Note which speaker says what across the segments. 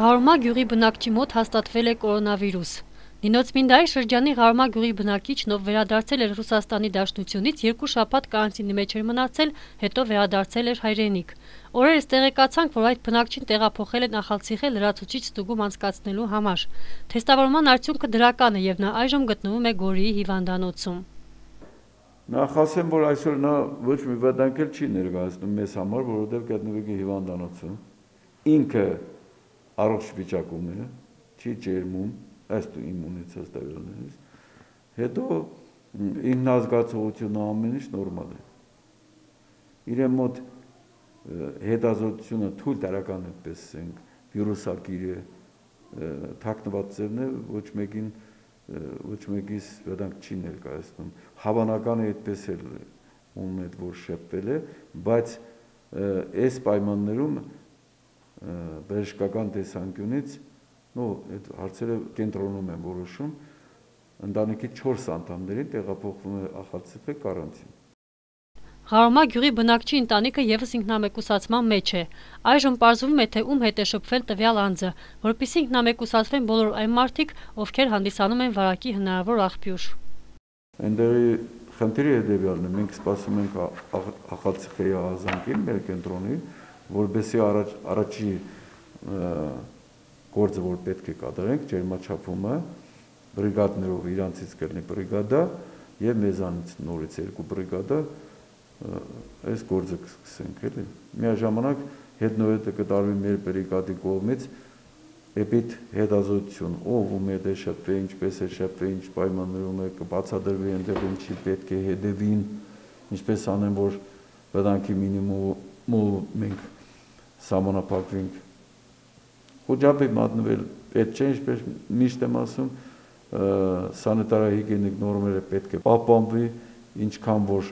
Speaker 1: Ղարոմա գյուղի բնակչի մոտ հաստատվել է կորոնավիրուս։ Նինոց-Մինդայի շրջանի Ղարոմա գյուղի բնակիչն, ով վերադարձել էր Ռուսաստանի Դաշնությունից, 2 շաբաթ կարանտինի մեջ էր մնացել, հետո վերադարձել էր հայրենիք։ Օրերս տեղեկացանք, որ այդ բնակչին տեղափոխել են Ախալցիխե լրացուցիչ ստուգում անցկացնելու համար։ Թեստավորման արդյունքը դրական է եւ նա այժմ գտնվում է Գորիի հիվանդանոցում։
Speaker 2: Նախ ասեմ, որ այսօր նա ոչ մի վտանգ չի ներկայացնում մեզ համար, որովհետև գտնվենք հիվանդանոցում։ Ինքը առողջ վիճակում է, չի ջերմում, ըստ իմ ունեցած տվյալներից, հետո ինքնազգացողությունը ամեն ինչ նորմալ է։ Իրեն մոտ հետազոտությունը թույլ տարական այդպես ենք, վիրուսակիր է, թաքնված ձևն է, ոչ մեկիս վտանգ չի ներկայացնում։ Հավանական է այդպես էլ ում հետ որ շփվել է, բայց այս պայմաններում բժշկական տեսանկյունից այդ հարցերը կենտրոնում են որոշում, ընտանիքի 4 անդամներին տեղափոխվում է Ախալցիխե կարանտին։
Speaker 1: Ղարոմա գյուղի բնակչի ընտանիքը եւս ինքնամեկուսացման մեջ է։ Այժմ պարզվում է, թե ում հետ է շփվել տվյալ անձը, որպեսզի ինքնամեկուսացվեն բոլոր այն մարդիկ, ովքեր հանդիսանում են վարակի հնարավոր աղբյուր։
Speaker 2: Այնտեղի խնդիրը հետևյալն է, մենք սպասում ենք Ախալցիխեի ահազանգին, մեր կենտրոնի, որպեսզի առաջի գործը, որ պետք է կատարենք, ջերմաչափումը, բրիգադներով իրանցից կլինի բրիգադա եւ մեզանից նորից 2 բրիգադա այս գործը կսկսենք էլի։ Միաժամանակ հետնովետը կտարվի մեր բրիգադի կողմից էպիտ հետազոտություն, ով ում հետ է շփվել, ինչպես է շփվել, ինչ պայմաններում է կբացատրվի այնտեղ ինչի պետք է հետևին, ինչպես անեն, որ վտանգի մինիմումով մենք սահմանափակվենք։ Խոճապի մատնվել պետք չէ, ինչպես միշտ եմ ասում, սանիտարահիգիենիկ նորմերը պետք է պահպանվի, ինչքան որ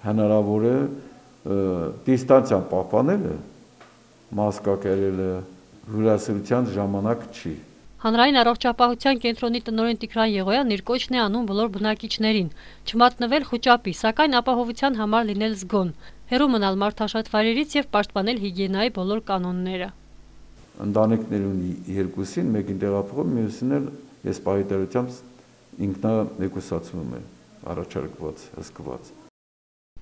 Speaker 2: հնարավոր է, դիստանցիան պահպանելը, մասկա կերելը հյուրասիրության ժամանակ չի։
Speaker 1: Հանրային առողջապահության կենտրոնի տնօրեն Տիգրան Եղոյանն իր կոչն է անում բոլոր բնակիչներին չմատնվել խոճապի, սակայն ապահովության համար լինել զգոն, հեռու մնալ մարդաշատ վայրերից եւ պաշտպանել հիգիենայի բոլոր կանոնները։
Speaker 2: Ընտանիքներուն 2-ին մեկին տեղափոխում, մյուսին էլ այս պահիտարությամբ ինքնամեկուսացվում է առաջարկված, հսկված։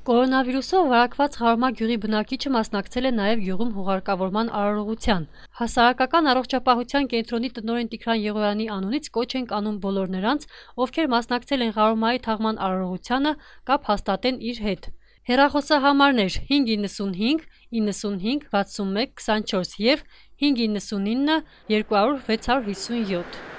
Speaker 1: Կորոնավիրուսով վարակված Ղարոմա գյուղի բնակիչը մասնակցել է նաև գյուղում հուղարկավորման արարողության։ Հասարակական առողջապահության կենտրոնի տնօրեն Տիգրան Եղոյանի անունից կոչ ենք անում բոլոր նրանց, ովքեր մասնակցել են Ղարոմայի թաղման արարողությանը, կապ հաստատեն իր հետ։ Հեռախոսահամարներ 595 95 61 24 եւ 599 200 657։